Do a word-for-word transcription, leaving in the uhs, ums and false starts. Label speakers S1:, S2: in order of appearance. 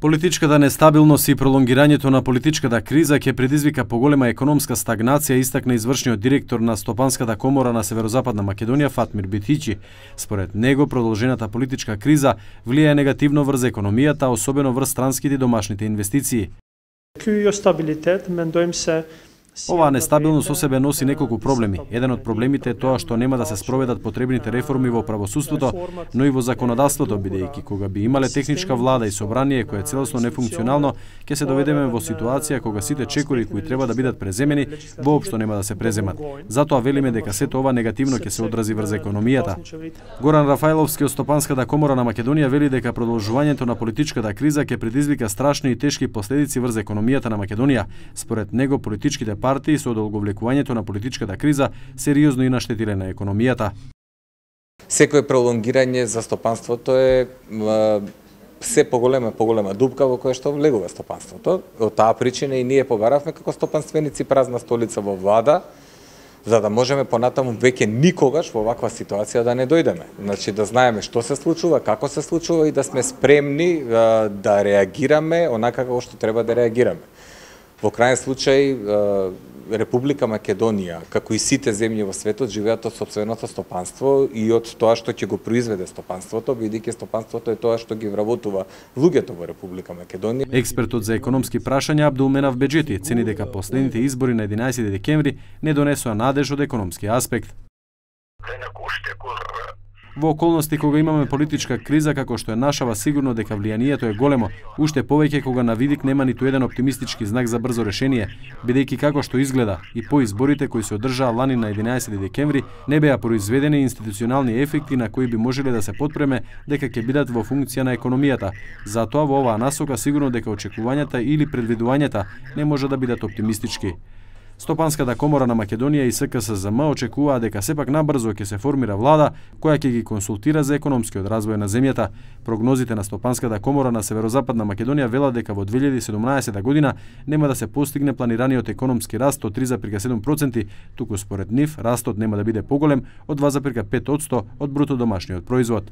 S1: Политичката нестабилност и пролонгирањето на политичката криза ќе предизвика поголема економска стагнација, истакна извршниот директор на Стопанската комора на Северозападна Македонија Фатмир Битичи. Според него, продолжената политичка криза влијае негативно врз економијата, особено врз странските и домашните инвестиции. Оваа нестабилност со себе носи неколку проблеми. Еден од проблемите е тоа што нема да се спроведат потребните реформи во правосудството, но и во законодавството, бидејќи кога би имале техничка влада и собрание кое е целосно нефункционално, ќе се доведеме во ситуација кога сите чекори кои треба да бидат преземени воопшто нема да се преземат. Затоа велиме дека сето ова негативно ќе се одрази врз економијата. Горан Рафајловски од Стопанската комора на Македонија вели дека продолжувањето на политичката криза ќе предизвика страшни и тешки последици врз економијата на Македонија. Според него, политичките партии со одолговлекувањето на политичката криза сериозно и наштетиле на економијата.
S2: Секое пролонгирање за стопанството е се поголема поголема дупка во која што влегува стопанството. Од таа причина и ние побаравме како стопанственици празна столица во влада, за да можеме понатаму веќе никогаш во ваква ситуација да не дојдеме. Значи да знаеме што се случува, како се случува и да сме спремни да реагираме онака како што треба да реагираме. Во крајен случај, Република Македонија, како и сите земји во светот, живеат од сопственото стопанство и од тоа што ќе го произведе стопанството, бидејќи стопанството е тоа што ги вработува луѓето во Република Македонија.
S1: Експертот за економски прашања Абдулменав Беџети цени дека последните избори на единаесети декември не донесоа надеж од економски аспект. Во околности кога имаме политичка криза како што е нашава, сигурно дека влијанието е големо, уште повеќе кога на видик нема ниту еден оптимистички знак за брзо решение, бидејќи како што изгледа и по изборите кои се одржаа лани на единаесети декември не беа произведени институционални ефекти на кои би можеле да се потпреме дека ќе бидат во функција на економијата. Затоа во оваа насока сигурно дека очекувањата или предвидувањата не може да бидат оптимистички. Стопанската комора на Македонија и С К С З М очекуваа дека сепак набрзо ќе се формира влада која ќе ги консултира за економскиот развој на земјата. Прогнозите на Стопанската комора на Северозападна Македонија велат дека во две илјади и седумнаесета година нема да се постигне планираниот економски раст од три зарез седум проценти, туку според нив растот нема да биде поголем од два зарез пет проценти од бруто домашниот производ.